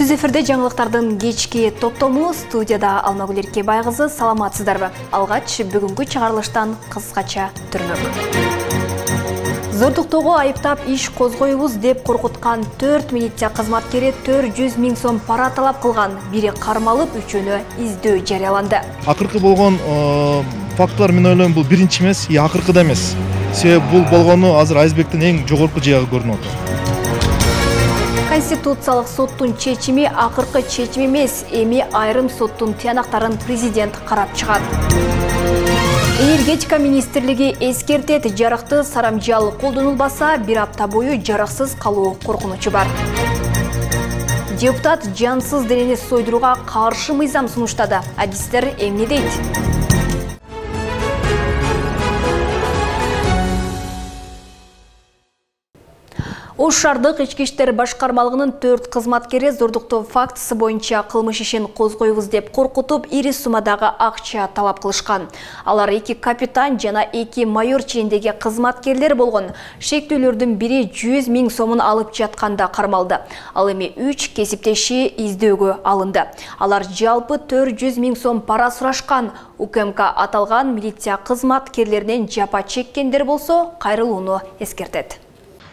Түз эфирде жаңылыктардын кечки топтому, студияда Алмагүл Эркебай кызы, саламатсыздарбы? Алгач бүгүнкү чыгарылыштан кыскача түрнөк. Зордуктоого айыптап иш козгойбуз деп коркуткан 4 милиция кызматкери 400 000 сом пара талап кылган. Бири кармалып, үчөөнө издөө жарыяланды. Акыркы болгон фактылар мен ойлойм бул биринчи эмес, акыркы да эмес. Себеби бул болгону азыр айсбергдин эң жогорку жыягы көрүнүп атат. Конституциялык соттун чечими акыркы чечим эмес, эми айрым соттун тыянактарын президент карап чыгат. Энергетика министрлиги эскертет, жарыкты сарамжал колдонулбаса, бир апта бою жарыксыз калуу коркунучу бар. Депутат жансыз денени сойдурууга каршы мыйзам сунуштады. Адистер эмне дейт? Ош шаардык ички иштер башкармалыгынын 4 кызматкери зордуктоо фактысы боюнча кылмыш ишин козгойбуз деп коркутуп, ири суммадагы акча талап кылышкан. Алар 2 капитан жана 2 майор ченindеги кызматкерлер болгон. Шектүүлөрдүн бири 100 000 сомун алып жатканда кармалды. Ал эми 3 кесиптеши издөөгө алынды. Алар жалпы 400 000 сом пара сурашкан. УКМК аталган милиция кызматкерлеринен жапа чеккендер болсо, кайрылууну эскертет.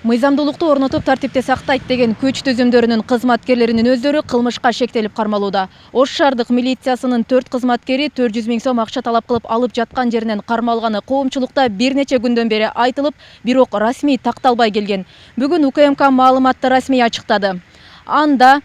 Мыйзамдуулукту орнотуп тартипти сактайт деген күч түзүмдөрүнүн кызматкерлеринин өздөрү кылмышка шектелип кармалууда. Ош шаардык милициясынын 4 кызматкери 400 000 сом акча талап кылып алып жаткан жеринен кармалганы коомчулукта бир нече күндөн бери айтылып, бирок расмий такталбай келген. Бүгүн УКМК маалыматты расмий ачыктады. Анда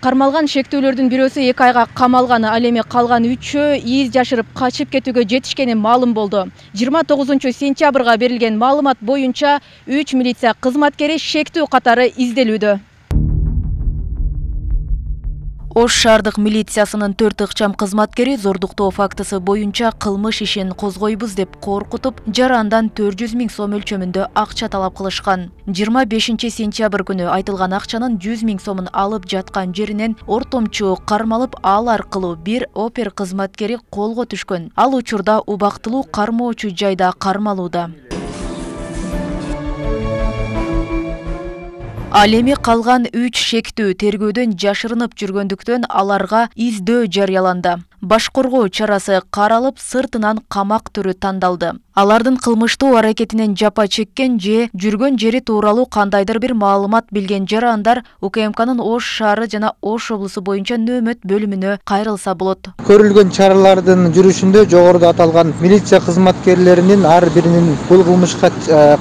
кармалган шектүүлөрдүн бирөөсү 2 айга камалганы, ал эми калган 3-өө из жашырып качып кетүүгө жетишкени маалым болду. 29-сентябрга берилген маалымат боюнча 3 милиция кызматкери шектүү катары изделүүдө. Ош шаардык милициясынын 4 ыкчам кызматкери зордуктоо фактысы боюнча кылмыш ишин козгойбуз деп коркутуп, жарандан 400 000 сом өлчөмүндө акча талап кылышкан. 25-сентябрь күнү айтылган акчанын 100 000 сомун алып жаткан жеринен ортомчу кармалып, ал аркылуу бир опер кызматкери колго түшкөн. Ал учурда убактылуу кармоочу жайда кармалууда. Ал эми калган 3 шектүү тергөөдөн жашырынып жүргөндүктөн аларга издөө жарыяланды. Баш коргоо чарасы каралып, сыртынан камак түрү тандалды. Алардын кылмыштуу аракетинен жапа чеккен же жүргөн жери тууралуу кандайдыр бир маалымат билген жарандар УКМКнын Ош шаары жана Ош облусу боюнча нөөмөт бөлүмүнө кайрылса болот. Көрүлгөн чаралардын жүрүшүндө жогоруда аталган милиция кызматкерлеринин ар биринин бул кылмышка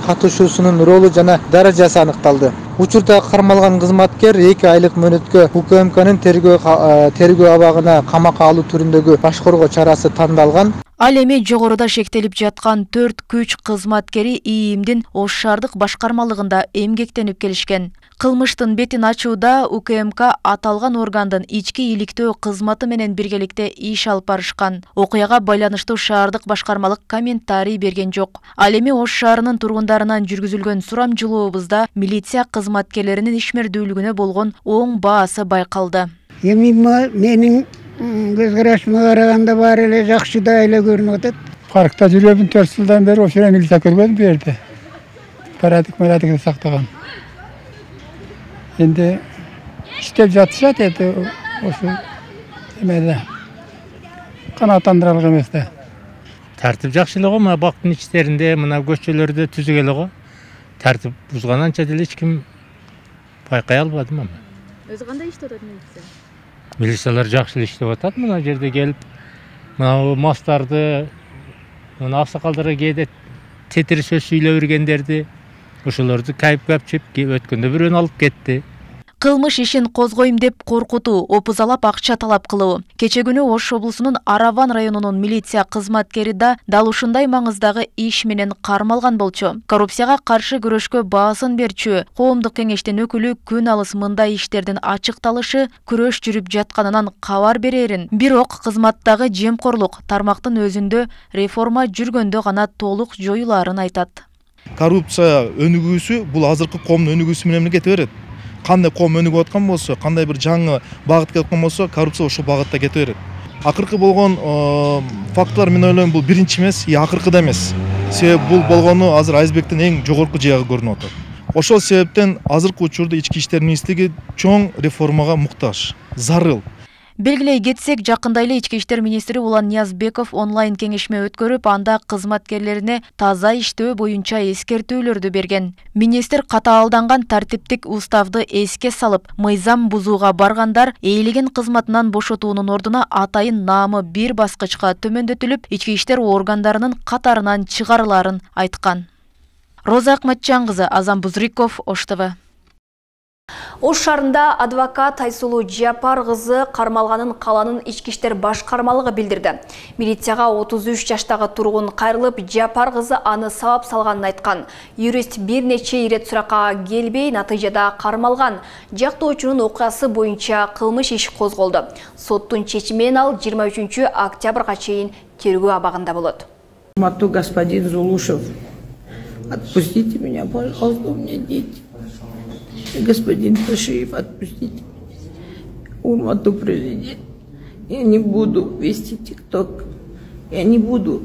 катышуусунун ролу жана даражасы аныкталды. Учурда кармалган кызматкер 2 айлык мөөнөткө УКМКнын тергөө абагына камакка алуу түрүндөгү баш коргоо чарасы тандалган. Ал эми жогоруда шектелип жаткан 4 күч кызматкери ИИМдин Ош шаардык башкармалыгында эмгектенип келишкен. Кылмыштын бетин ачууда УКМК аталган органдын ички иликтөө кызматы менен биргеликте иш алып барышкан. Окуяга байланыштуу шаардык башкармалык комментарий берген жок. Ал эми Ош шаарынын тургундарынан жүргүзүлгөн сурамжылообузда милиция кызматкерлеринин ишмердүүлүгүнө болгон оң баасы байкалды. Эми менин көз карашыма караганда баары эле жакшы да эле көрүнүп атат. Паркта жүрөбүн 4 жылдан бери ошо милиция көрбөдүм бу жерде. Парадык сактаган. Энди иштеп жатышат эди ошо эмеде. Канааттандыралык эмес да. Тартип жакшы эле го, мына бактын ичтеринде, мына көчөлөрдө түзүк эле го. Тартип бузган анча деле эч ким байкай албадым аны. Өзү кандай иштеп атат милиция? Милициялар жакшы эле иштеп атат, мына жерде келип, мына мастарды, мына аксакалдарга кээде тетир сөз сүйлөп бергендерди, ошолорду кайып-капчып өткөндө бирөөнү алып кетти. Кылмыш ишин козгойм деп коркутуу, опузалап акча талап кылуу. Кече күнү Ош облусунун Араван районунун милиция кызматкери да дал ушундай маңыздагы иш менен кармалган болчу. Коррупцияга каршы күрөшкө баасын берчү коомдук кеңештин өкүлү күн алыс мындай иштердин ачыкталышы күрөш жүрүп жатканынан кабар берерин. Бирок кызматтагы жемкорлук тармактын өзүндө реформа жүргөндө гана толук жоюларын айтат. Коррупция өнүгүүсү бул азыркы коомдун өнүгүүсү менен кете берет. Кандай коом өнүгүп аткан болсо, кандай бир жаңы багыт кетип аткан болсо, коррупция ошол багытта кете берет. Акыркы болгон фактылар мен ойлойм бул биринчи эмес, акыркы да эмес. Себеби бул болгону азыр айсбергдин эң жогорку жыягы көрүнүп атат. Ошол себептен азыркы учурда Ички иштер министрлиги чоң реформага муктаж, зарыл. Белгилей кетсек, жакында эле Ички иштер министри Улан Ниязбеков онлайн кеңешме өткөрүп, анда кызматкерлерине таза иштөө боюнча эскертүүлөрдү берген. Министр катаалданган тартиптик уставды эске салып, мыйзам бузууга баргандар ээлеген кызматынан бошотуунун ордуна атайын наамы бир баскычка төмөндөтүлүп, ички иштер органдарынын катарынан чыгарыларын айткан. Роза Акматжан кызы, Азам Бузриков, Ош ТВ. Ош шаарында адвокат Айсулуу Жапар кызы кармалганын каланын ички иштер башкармалыгы билдирди. Милицияга 33 жаштагы тургун кайрылып, Жапар кызы аны сабап салганын айткан. Юрист бир нече ирет суракка келбей, натыйжада кармалган. Жактоочунун окуясы боюнча кылмыш иш козголду. Соттун чечими менен ал 23 октябрга чейин тергөө абагында болот. Господин Зулушев, отпустите меня, пожалуйста, у меня дети. Господин Ташиев, отпустите. Урмату президент. Я не буду вести ТикТок. Я не буду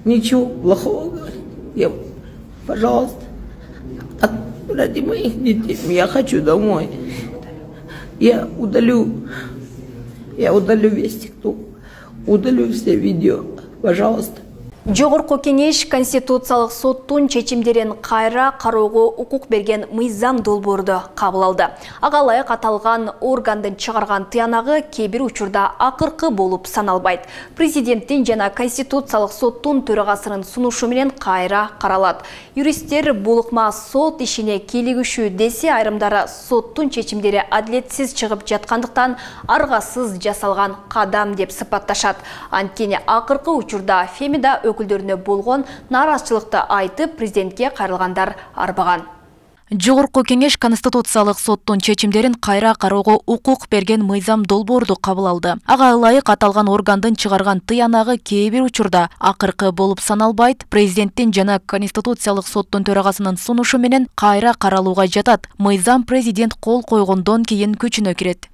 ничего плохого говорить. Пожалуйста, ради моих детей. Я хочу домой. Я удалю весь ТикТок. Удалю все видео. Пожалуйста. Жогорку кеңеш Конституциялык соттун чечимдерин кайра кароого укук берген мыйзам долбоорду кабыл алды. Ага ылайык аталган органдын чыгарган тыянагы кээ бир учурда акыркы болуп саналбайт. Президенттин жана Конституциялык соттун төрагасынын сунушу менен кайра каралат. Юристтер булукма сот ишине кийлигишүү десе, айрымдары соттун чечимдери адилетсиз чыгып жаткандыктан аргасыз жасалган кадам деп сыпатташат. Анткени акыркы учурда Фемида өкүлдөрүнө болгон нааразычылыкты айтып, президентке кайрылгандар арбаган. Жогорку кеңеш Конституциялык соттун чечимдерин кайра кароого укук берген мыйзам долбоорду кабыл алды. Ага ылайык аталган органдын чыгарган тыянагы кээ бир учурда акыркы болуп саналбайт. Президенттин жана Конституциялык соттун төрагасынын сунушу менен кайра каралууга жатат. Мыйзам президент кол койгондон кийин күчүнө кирет.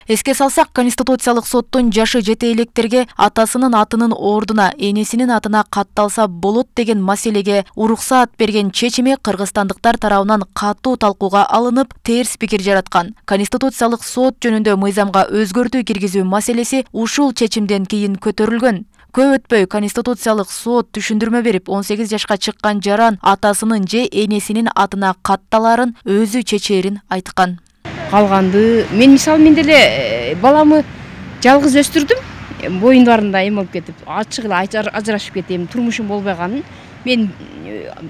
Эске салсак, Конституциялык соттун жашы жете электерге атасынын атынын ордуна энесинин атына катталса болот деген маселеге уруксаат берген чечими кыргызстандыктар тарабынан катуу талкууга алынып, терс пикир жараткан. Конституциялык сот жөнүндө мыйзамга өзгөртүү киргизүү маселеси ушул чечимден кийин көтөрүлгөн. Көп өтпөй Конституциялык сот түшүндүрмө берип, 18 жашка чыккан жаран атасынын же энесинин атына катталарын өзү чечээрин айткан. Калганды мен мисалы деле баламы жалгыз өстүрдүм, боюндарында эме болуп кетип, ачык эле ажырашып кетем, турмушум болбойганын мен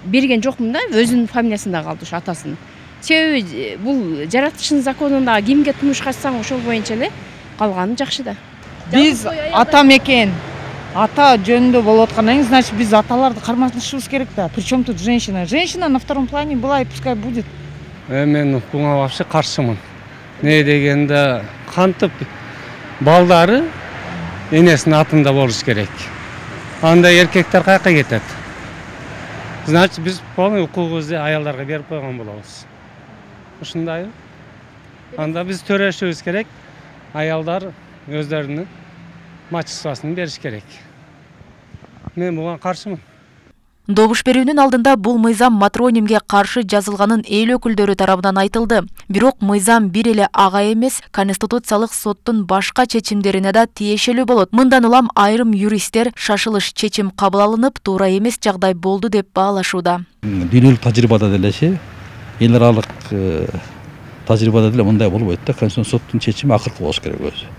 берген жокмун да, өзүнүн фамилиясында калды ушу атасынын. Себеби бул жаратылыштын законунда кимге турмуш качсаң ошол боюнча эле калганы жакшы да. Биз ата мекен, ата жөнүндө болуп аткандан кийин, значит биз аталарды кармашышыбыз керек да. Причем тут женщина? Женщина на втором плане была и пускай будет. Мен буга вообще каршымын. Не дегенде кантип балдары энесинин атында болуш керек. Анда эркектер каяка кетет? Значит, биз полный укугубузду аялдарга берип койгон болобуз. Ушундайбы? Анда биз төрөшүбүз керек. Аялдар өздөрүнүн мачествосын бериш керек. Мен буга каршымын. Добуш берүүнүн алдында бул мыйзам матронимге каршы жазылганын эл өкүлдөрү тарабынан айтылды. Бирок мыйзам бир эле ага эмес, Конституциялык соттун башка чечимдерине да тиешелүү болот. Мындан улам айрым юристтер шашылыш чечим кабыл алынып, туура эмес жагдай болду деп баалашууда. Дүйнөлүк тажрыйбада деле, эл аралык тажрыйбада деле мындай болбойт да, Конституциялык соттун чечими акыркы болуш керек өзү.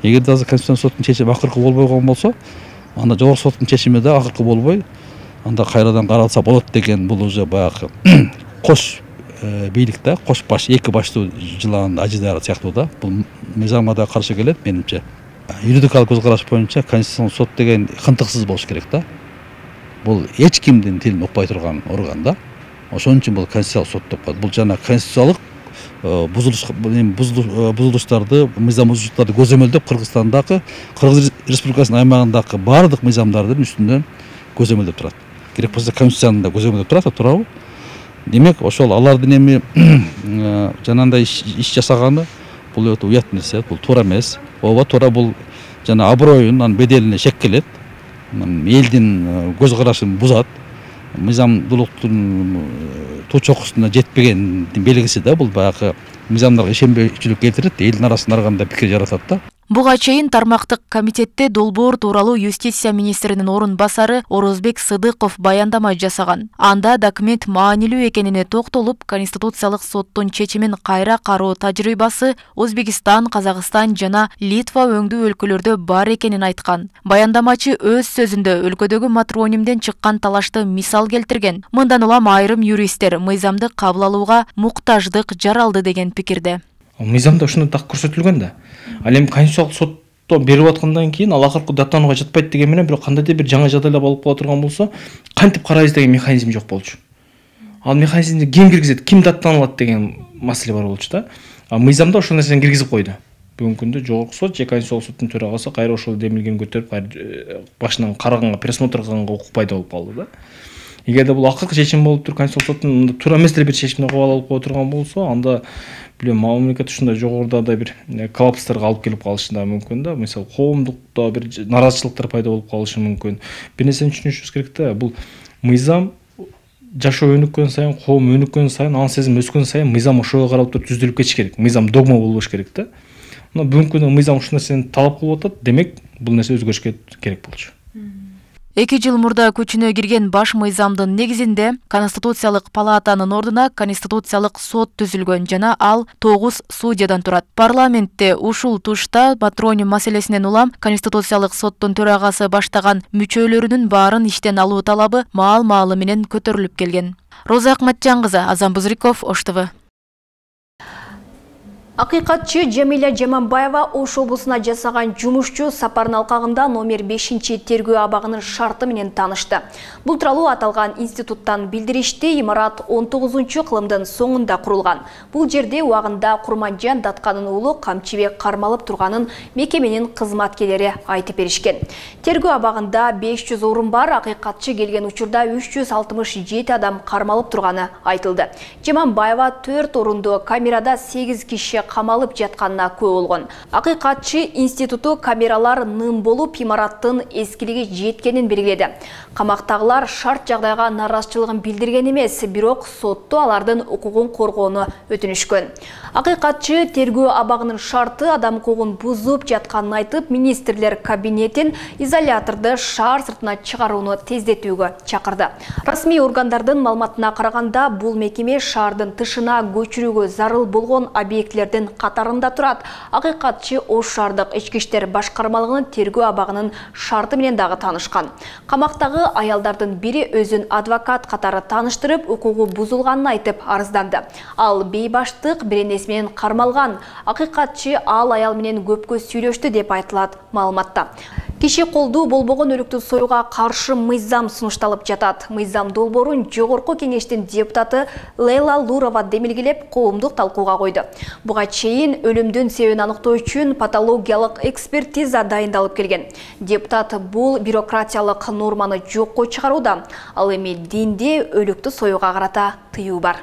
Эгерде азыр Конституциялык соттун чечими акыркы болбойгон болсо, анда жогорку соттун чечими да акыркы болбой, анда кайрадан каралса болот деген бул уже баягы кош бийлик да, кош баш, эки баштуу жылан ажыдары сыяктуу да. Бул мыйзамга да каршы келет менимче. Юридикалык көз караш боюнча Конституциялык сот деген кынтыксыз болуш керек да. Бул эч кимдин тилин укпай турган орган да. Ошон үчүн бул Конституциялык сот деп коет. Бул жана конституциялык бузулуштарды, мыйзам бузуштарды көзөмөлдөп Кыргызстандагы, Кыргыз Республикасынын аймагындагы баардык мыйзамдардын үстүнөн көзөмөлдөп турат. Керек болсо Конституциянын да көзөмөлдөп турат, туурабы? Демек, ошол алардын эми жанагындай иш жасаганы бул өтө уят нерсе, бул туура эмес. Ооба, туура, бул жана аброюн, анын беделине шек келет. Элдин көз карашын бузат. мыйзамдуулуктун туу чокусуна жетпегендин белгиси да. Бул баягы мыйзамдарга ишенбейчүлүк келтирет, элдин арасында ар кандай пикир жаратат да. Буга чейин тармактык комитетте долбоор тууралуу юстиция министринин орун басары Орозбек Сыдыков баяндама жасаган. Анда документ маанилүү экенине токтолуп, Конституциялык соттун чечимин кайра кароо тажрыйбасы Өзбекстан, Казакстан жана Литва өңдүү өлкөлөрдө бар экенин айткан. Баяндамачы өз сөзүндө өлкөдөгү матронимден чыккан талашты мисал келтирген. Мындан улам айрым юристтер мыйзамды кабыл алууга муктаждык жаралды деген пикирде. Мыйзамда ушундай так көрсөтүлгөн да. Ал эми Конституциялык сотто берип аткандан кийин ал акыркы даттанууга жатпайт деген менен бирок кандайдыр бир жаңы жагдайлар болуп кала турган болсо, кантип карайбыз деген механизм жок болчу. Ал механизмди ким киргизет, ким даттаналат деген маселе бар болчу да. Мыйзамда ошол нерсени киргизип койду. Бүгүнкү күндө Жогорку сот же Конституциялык соттун төрагасы кайра ошол демилгени көтөрүп, кайра башынан караганга, пересмотр кылганга укук пайда болуп калды да. Эгерде бул акыркы чечим болуп туруп, Конституциялык соттун туура эмес бир чечимди кабыл алып кое турган болсо, анда билем мамлекет ушундай жогоруда бир коллапстарга алып келип калышы да мүмкүн да. Мисалы, коомдукта бир наразычылыктар пайда болуп калышы мүмкүн. Бир нерсени түшүнүшүбүз керек да. Бул мыйзам жашоо өнүккөн сайын, коом өнүккөн сайын, анын сезим өскөн сайын мыйзам ошого карап туруп түздүлүп кетиш керек. Мыйзам догма болбош керек да. Мына бүгүнкү күндө мыйзам ушул нерсени талап кылып атат, демек бул нерсе өзгөрүшкө керек болчу. 2 жыл мурда күчүнө кирген баш мыйзамдын негизинде Конституциялык палатанын ордуна Конституциялык сот түзүлгөн жана ал 9 судьядан турат. Парламентте ушул тушта патроним маселесинен улам Конституциялык соттун төрагасы баштаган мүчөлөрүнүн баарын иштен алуу талабы маал-маалы менен көтөрүлүп келген. Роза Акматжан кызы, Азам Бузриков, Ош ТВ. Акыйкатчы Жамиля Жаманбаева Ош облусуна жасаган жумушчу сапардын алкагында номер 5 тергөө абагынын шарты менен таанышты. Бул тууралуу аталган институттан билдиришти. Имарат 19 кылымдын соңунда курулган. Бул жерде убагында Курманжан Датканын уулу Камчыбек кармалып турганын мекеменин кызматкерлери айтып беришкен. Тергөө абагында 500 орун бар. Акыйкатчы келген учурда 367 адам кармалып турганы айтылды. Жаманбаева 4 орунду камерада 8 киши камалып жатканына күбө болгон. Акыйкатчы институту камералар ным болуп, имараттын эскилиги жеткенин белгиледи. Камактагылар шарт жагдайга наразычылыгын билдирген эмес, бирок сотто алардын укугун коргоону өтүнүшкөн. Акыйкатчы тергөө абагынын шарты адам укугун бузуп жатканын айтып, министрлер кабинетин изоляторду шаар сыртына чыгарууну тездетүүгө чакырды. Расмий органдардын маалыматына караганда, бул мекеме шаардын тышына көчүрүүгө зарыл болгон объектлердин катарында турат. Акыйкатчы Ош шаардык ички иштер башкармалыгынын тергөө абагынын шарты менен дагы таанышкан. Камактагы аялдардын бири өзүн адвокат катары тааныштырып, укугу бузулганын айтып арызданды. Ал бейбаштык беренеси менен кармалган. Акыйкатчы ал аял менен көпкө сүйлөштү деп айтылат маалыматта. Киши колдуу болбогон өлүктү союга каршы мыйзам сунушталып жатат. Мыйзам долбоорун Жогорку кеңештин депутаты Лейла Лурова демилгелеп, коомдук талкууга койду. Буга чейин өлүмдүн себебин аныктоо үчүн патологиялык экспертиза дайындалып келген. Депутат бул бюрократиялык норманы жокко чыгарууда. Ал эми динде өлүктү союга карата тыюу бар.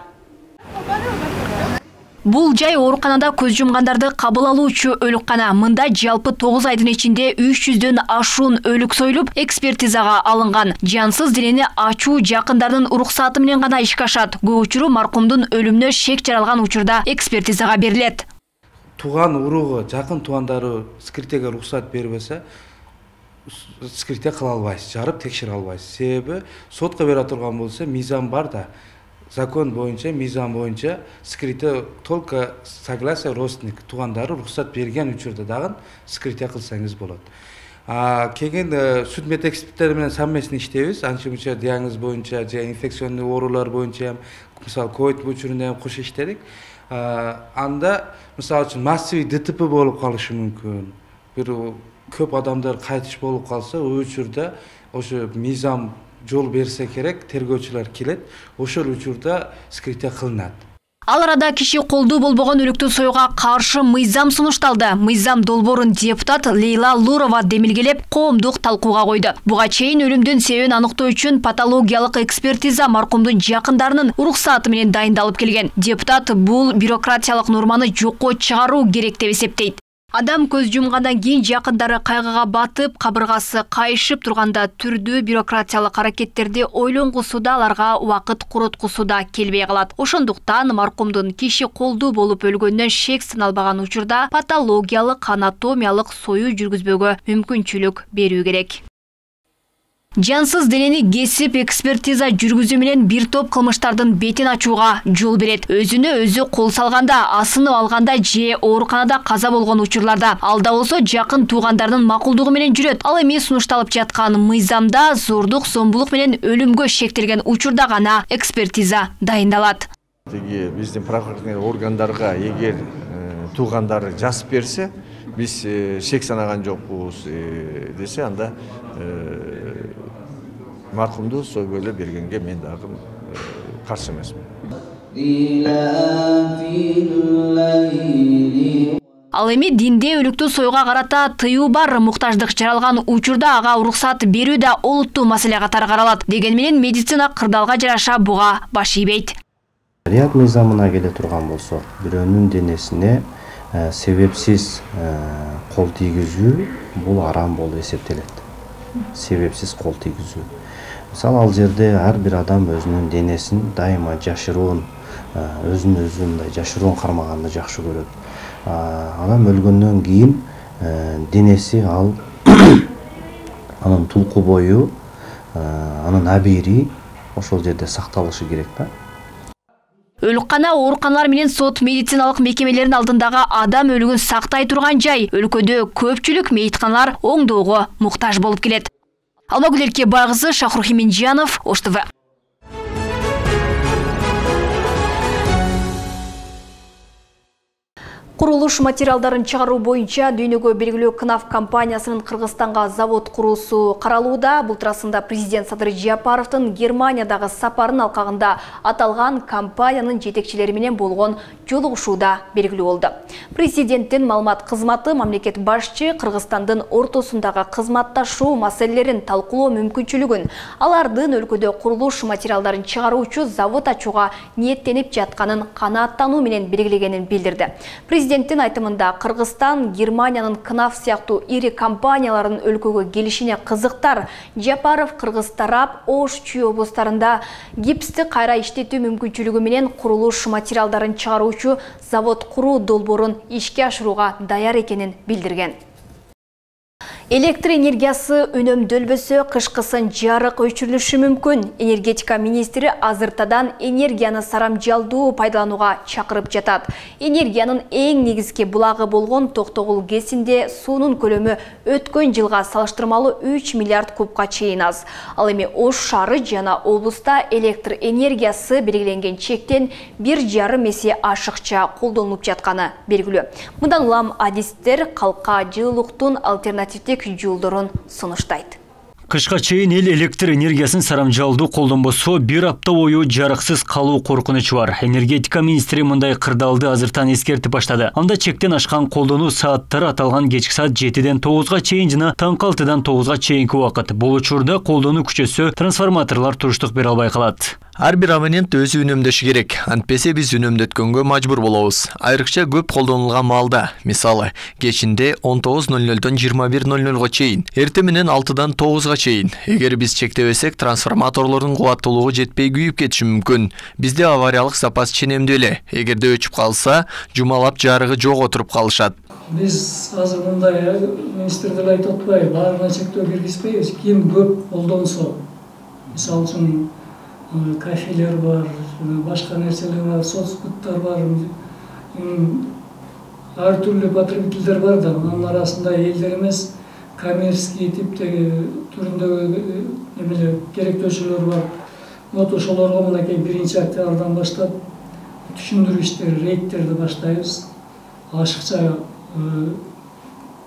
Бул жай ооруканада көз жумгандарды кабыл алуучу өлүккана. Мында жалпы 9 айдын ичинде 300дөн ашуун өлүк союлуп, экспертизага алынган. Жансыз денени ачуу жакындардын уруксаты менен гана ишке ашат. Көп учуру маркумдун өлүмүнө шек жаралган учурда экспертизага берилет. Туган уругу, жакын туугандары скритеге уруксат бербесе, скрите кыла албайсыз, жарып текшере албайсыз. Себеби сотко бере турган болсо мыйзам бар да. Закон боюнча, мыйзам боюнча скрите только согласие родственник, туугандары уруксат берген учурда дагы скрите кылсаңыз болот. Келген судмед эксперттер менен совместно иштейбиз. Анча-мынча диагноз боюнча же инфекционный оорулар боюнча, мисалы ковид учурунда кош иштедик. Анда мисалы үчүн массивий ДТП болуп калышы мүмкүн. Бир көп адамдар кайтыш болуп калса, ол учурда ошо мыйзам жол берсе керек, тергөөчүлөр келет, ошол учурда скрите кылынат. Ал арада киши колдуу болбогон өлүктү союга каршы мыйзам сунушталды. Мыйзам долбоорун депутат Лейла Лурова демилгелеп, коомдук талкууга койду. Буга чейин өлүмдүн себебин аныктоо үчүн патологиялык экспертиза маркумдун жакындарынын уруксаты менен дайындалып келген. Депутат бул бюрократиялык норманы жокко чыгаруу керек деп эсептейт. Адам көз жумгандан кийин жакындары кайгыга батып, кабыргасы кайышып турганда түрдүү бюрократиялык аракеттерди ойлонгусуда аларга убакыт короткусуда келбей калат. Ошондуктан маркумдун киши колдуу болуп өлгөндөн шек сыналбаган учурда патологиялык, анатомиялык союу жүргүзбөгө мүмкүнчүлүк берүү керек. Жансыз денени кесип экспертиза жүргүзүү менен бир топ кылмыштардын бетин ачууга жол берет. Өзүнө өзү кол салганда, асынып алганда же ооруканада каза болгон учурларда, алда болсо жакын туугандардын макулдугу менен жүрөт. Ал эми сунушталып жаткан мыйзамда зордук, зомбулук менен өлүмгө шектелген учурда гана экспертиза дайындалат. Биздин правоохранительный органдарга эгер туугандары жазып берсе, биз шек санаган жокпуз десе, анда маркумду сойгөйлө бергенге мен дагы каршы эмесмин. Ал эми динде өлүктү союга карата тыюу бар, муктаждык жаралган учурда ага уруксат берүү да олуттуу маселе катары каралат. Деген менен медицина кырдаалга жараша буга баш ийбейт. Шарият мыйзамына келе турган болсок, бирөөнүн денесине себепсиз кол тийгизүү бул арам болуп эсептелет. Себепсиз кол тийгизүү. Мисалы, ал жерде ар бир адам өзүнүн денесин дайыма жашыруун, өзүн мындай жашыруун кармаганды жакшы көрөт. Адам өлгөндөн кийин денеси ал анын тулку бою, анын абийири ошол жерде сакталышы керек да. Өлкана, ооруканалар менен сот медициналык мекемелеринин алдындагы адам өлүгүн сактай турган жай. Өлкөдө көпчүлүк мейитканалар оңдоого муктаж болуп келет. Алмагүл Эркебайкызы, Шахрух Иминжанов, Ош ТВ. Курулуш материалдарын чыгаруу боюнча дүйнөгө белгилүү КНАФ компаниясынын Кыргызстанга завод куруусу каралууда. Бултурасында президент Садыр Жапаровдун Германиядагы сапарын алкагында аталган компаниянын жетекчилери менен болгон жолугушууда белгилүү болду. Президенттин маалымат кызматы мамлекет башчы Кыргызстандын ортосундагы кызматташуу маселелерин талкуулоо мүмкүнчүлүгүн, алардын өлкөдө курулуш материалдарын чыгаруучу завод ачууга ниеттенип жатканын канааттануу менен белгилегенин билдирди. Президенттин айтымында Кыргызстан Германиянын КНАФ сыяктуу ири компанияларын өлкөгө келишине кызыктар. Жапаров Кыргыз тарап Ош, Чүй облустарында гипсти кайра иштетүү мүмкүнчүлүгү менен курулуш материалдарын чыгаруучу завод куруу долбоорун ишке ашырууга даяр экенин билдирген. Электр энергиясы үнөмдөлбөсө кышкысын жарык өчүрүлүшү мүмкүн. Энергетика министри азыртадан энергияны сарамжалдуу пайдаланууга чакырып жатат. Энергиянын эң негизги булагы болгон Токтогул ГЭСинде суунун көлөмү өткөн жылга салыштырмалуу 3 миллиард кубка чейин аз. Ал эми Ош шаары жана облуста электр энергиясы белгиленген чектен 1,5 эсе ашыкча колдонулуп жатканы белгилүү. Мындан улам адистер калка жылуулуктун альтернативдик жолдорун сунуштайт. Кышка чейин эл электр энергиясын сарамжалдуу колдонбосо бир апта бою жарыксыз калуу коркунучу бар. Энергетика министри мындай кырдаалды азыртан эскертип баштады. Анда чектен ашкан колдонуу сааттары аталган кечки саат 7ден 9га чейин жана таңкы 6дан 9га чейинки убакыт. Бул учурда колдонуу күчөсө трансформаторлор туруштук бере албай калат. Ар бир абонент өзү үнөмдөшү керек. Антпесе биз үнөмдөткөнгө мажбур болобуз. Айрыкча көп колдонулган маалда, мисалы, кечинде 19:00дон 21:00га чейин, эртең менен 6дан 9га чейин. Эгер биз чектебесек, трансформаторлордун кубаттуулугу жетпей күйүп кетиши мүмкүн. Бизде авариялык запас ченемдүү эле. Эгерде өчүп калса, жумалап жарыгы жок отуруп калышат. Биз азыр мындай министрлер айтып атпайбы, баарына чектөө киргизбейбиз. Ким көп колдонсо, мисалы үчүн кафелер бар, башка нерселер бар, соцбуттар бар, ар түрлүү потребительдер бар да, анын арасында элдер эмес, коммерческий типтеги түрүндөгү эмелер керектөөчүлөр бар. Вот ошолорго мынакей 1-октябрдан баштап түшүндүрүү иштери, рейдтерди баштайбыз. Ашыкча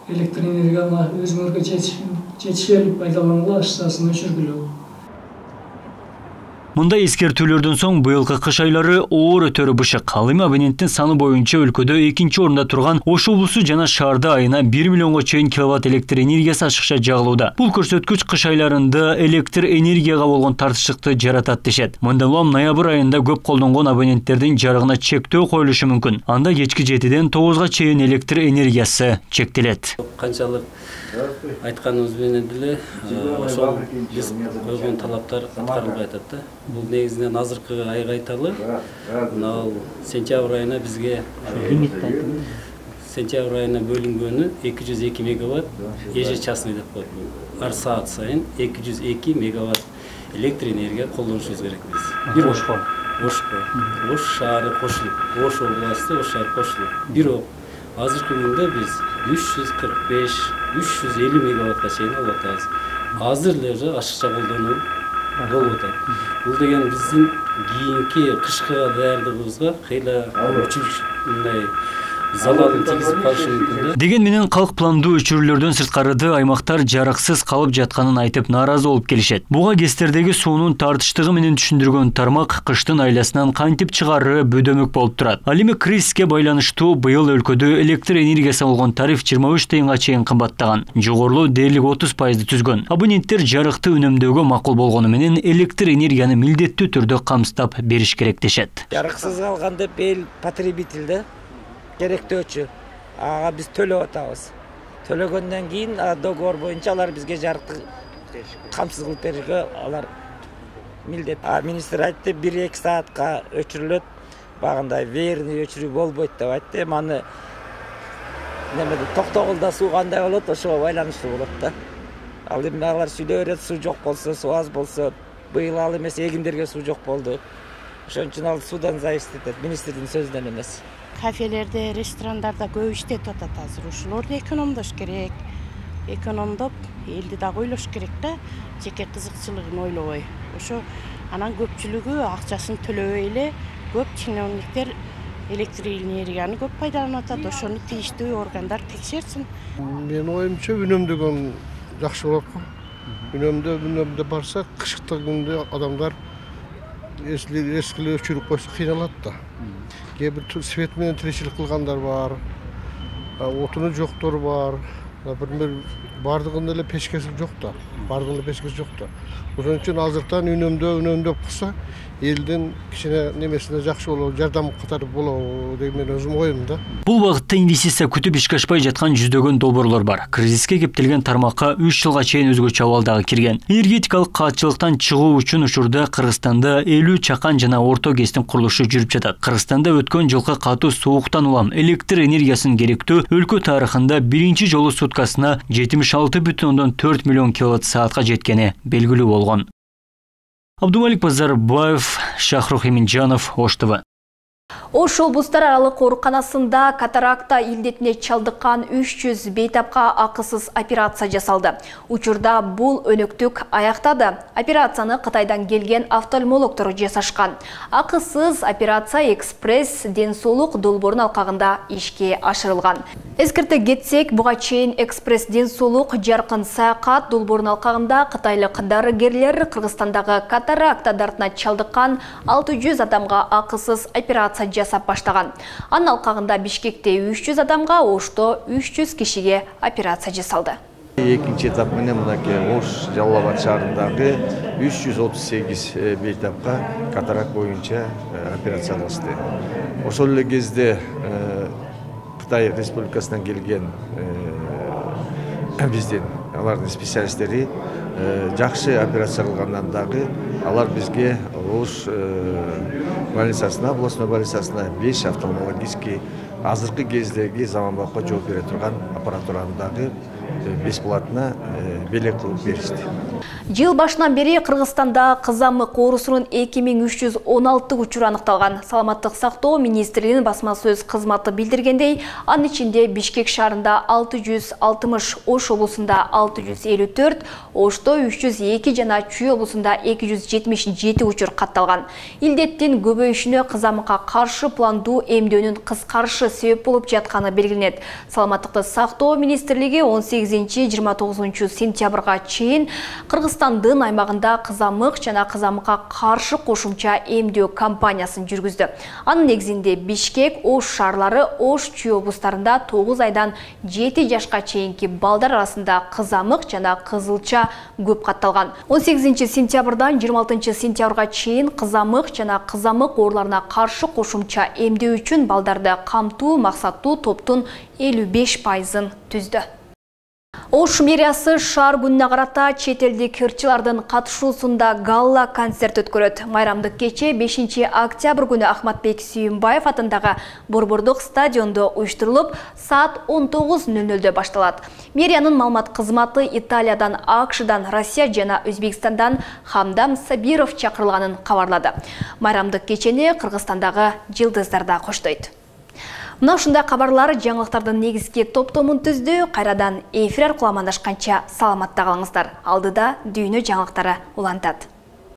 электр энергияны өзүңөргө жетишели пайдалангыла, ашыкчасын өчүргүлө. Мындай эскертүүлөрдөн соң быйылкы кыш айлары оор өтөрү бышык. Ал эми абоненттин саны боюнча өлкөдө 2-орунда турган Ош облусу жана шаарда айына 1 миллионго чейин киловатт электр энергиясы ашыкча жагылууда. Бул көрсөткүч кыш айларында электр энергияга болгон тартыштыкты жаратат дешет. Мындан улам ноябрь айында көп колдонгон абоненттердин жарыгына чектөө коюлушу мүмкүн. Анда кечки 7-ден 9-га чейин электр энергиясы чектелет. Канчалык айтканыбыз менен деле ошол биз койгон талаптар аткарылбай атат да. Бул негизинен азыркы айга айталы. Мына сентябрь айына бизге сентябрь айына бөлүнгөнү 202 мегаватт ежечасный деп коет. Ар саат сайын 202 мегаватт электр энергия колдонушубуз керек биз. Бир Ошко. Ош шаары кошулуп, Ош областы, Ош шаары кошулуп. Бирок азыркы күндө биз 345-350 мегаваттка чейин алып атабыз. Азыр эле уже ашыкча колдонуу болуп атат. Бул деген биздин кийинки кышкыга даярдыгыбызга кыйла мындай залалын тийгизип калышы мүмкүн. Деген менен калк пландуу өчүрүүлөрдөн сырткарыда аймактар жарыксыз калып жатканын айтып нааразы болуп келишет. Буга ГЭСтердеги суунун тартыштыгы менен түшүндүргөн тармак кыштын айласынан кантип чыгаары бөдөмөк болуп турат. Ал эми кризиске байланыштуу быйыл өлкөдө электр энергиясы болгон тариф 23 тыйынга чейин кымбаттаган. Жогорулуу дээрлик 30% түзгөн. Абоненттер жарыкты үнөмдөөгө макул болгону менен электр энергияны милдеттүү түрдө камсыздап бериш керек дешет. Жарыксыз калганда эл потребителде керектөөчү. Ага биз төлөп атабыз. Төлөгөндөн кийин договор боюнча алар бизге жарыкты камсыз кылып берүүгө алар милдет. Министр айтты 1-2 саатка өчүрүлөт. Багындай верный өчүрүү болбойт деп айтты. Маны немеде токтогулда суу кандай болот, ошого байланыштуу болот да. Ал эми алар сүйлөп берет, суу жок болсо, суу аз болсо, быйыл ал эмес эгиндерге суу жок болду. Ошон үчүн ал суудан зависит этет, министрдин сөзүнөн эмес. Кафелерде, ресторандарда көп иштетип атат азыр. Ошолорду экономдош керек. Экономдоп, элди дагы ойлош керек да, жеке кызыкчылыгын ойлобой. Ошо анан көпчүлүгү акчасын төлөбөй эле көп чиновниктер электр энергияны көп пайдаланып атат. Ошону тийиштүү органдар текшерсин. Менин оюмча үнөмдөгөн жакшы болот го. Үнөмдө барса, кышкы күндө адамдар эскиле өчүрүп койсо кыйналат да. Кээ бир свет менен тиричилик кылгандар бар, отуну жоктор бар. Например, бардыгында эле печкеси жок да. Ошон үчүн азыртан үнөмдөп кылса, элдин кичине немесине жакшы болот, жардам катары болот деп мен өзүм оюм да. Бул багытта инвестиция күтүп ишке ашпай жаткан жүздөгөн долбоорлор бар. Кризиске кептелген тармакка 3 жылга чейин өзгөчө абалдагы кирген. Энергетикалык каатчылыктан чыгуу үчүн учурда Кыргызстанда 50 чакан жана орто ГЭСтин курулушу жүрүп жатат. Кыргызстанда өткөн жылкы катуу сууктан улам электр энергиясын керектөө өлкө тарыхында биринчи жолу суткасына 76,4 миллион киловатт саатка жеткени белгилүү болгон. Абдумалик Базарбаев, Шахрух Эминжанов, Ош ТВ. Ош облустар аралык ооруканасында катаракта илдетине чалдыккан 300 бейтапка акысыз операция жасалды. Учурда бул өнөктүк аяктады. Операцияны Кытайдан келген офтальмологдор жасашкан. Акысыз операция экспресс ден соолук долбоорунун алкагында ишке ашырылган. Эскерте кетсек, буга чейин экспресс ден соолук жаркын саякат долбоорунун алкагында кытайлык дарыгерлер Кыргызстандагы катаракта дартына чалдыккан 600 адамга акысыз операция жасап баштаган. Анын алкагында Бишкекте 300 адамга, Ошто 300 кишиге операция жасалды. Экинчи этап менен мынакей Ош Жалал Абад шаарындагы 338 бейтапка катаракт боюнча операция алышты. Ошол эле кезде Кытай Республикасынан келген биздин алардын специалисттери жакшы операция кылгандан дагы алар бизге Ош больницасына, областной больницасына 5 офтальмологический азыркы кездеги заманбапка жооп бере турган аппаратураны дагы бесплатно белек кылып беришти. Жыл башынан бери Кыргызстанда кызамык оорусунун 2316 учуру аныкталган. Саламаттык сактоо министрлигинин басма сөз кызматы билдиргендей, анын ичинде Бишкек шаарында 660, Ош облусунда 654, Ошто 302 жана Чүй облусунда 277 учур катталган. Илдеттин көбөйүшүнө кызамыкка каршы пландуу эмдөөнүн кыскарышы себеп болуп жатканы белгиленет. Саламаттыкты сактоо министрлиги 18-29 сентябрга чейин Кыргызстандын аймагында кызамык жана кызамыкка каршы кошумча эмдөө кампаниясын жүргүздү. Анын негизинде Бишкек, Ош шаарлары, Ош, Чүй облустарында 9 айдан 7 жашка чейинки балдар арасында кызамык жана кызылча көп катталган. 18 сентябрдан 26 сентябрга чейин кызамык жана кызамык ооруларына каршы кошумча эмдөө үчүн балдарды камтуу максаттуу топтун 55%-ын түздү. Ош мэриясы шаар күнүнө карата чет элдик ырчылардын катышуусунда галла концерт өткөрөт. Майрамдык кече 5 октябрь күнү Ахматбек Сүйүнбаев атындагы Борбордук стадиондо уюштурулуп, саат 19:00 башталат. Мэриянын маалымат кызматы Италиядан, АКШдан, Россия жана Өзбекстандан Хамдам Сабиров чакырылганын кабарлады. Майрамдык кечени Кыргызстандагы жылдыздар да коштойт. Мына ушундай кабарлар жаңылыктардын негизги топтомун түздү. Кайрадан эфир аркылуу амандашканча саламатта калыңыздар. Алдыда дүйнө жаңылыктары улантат.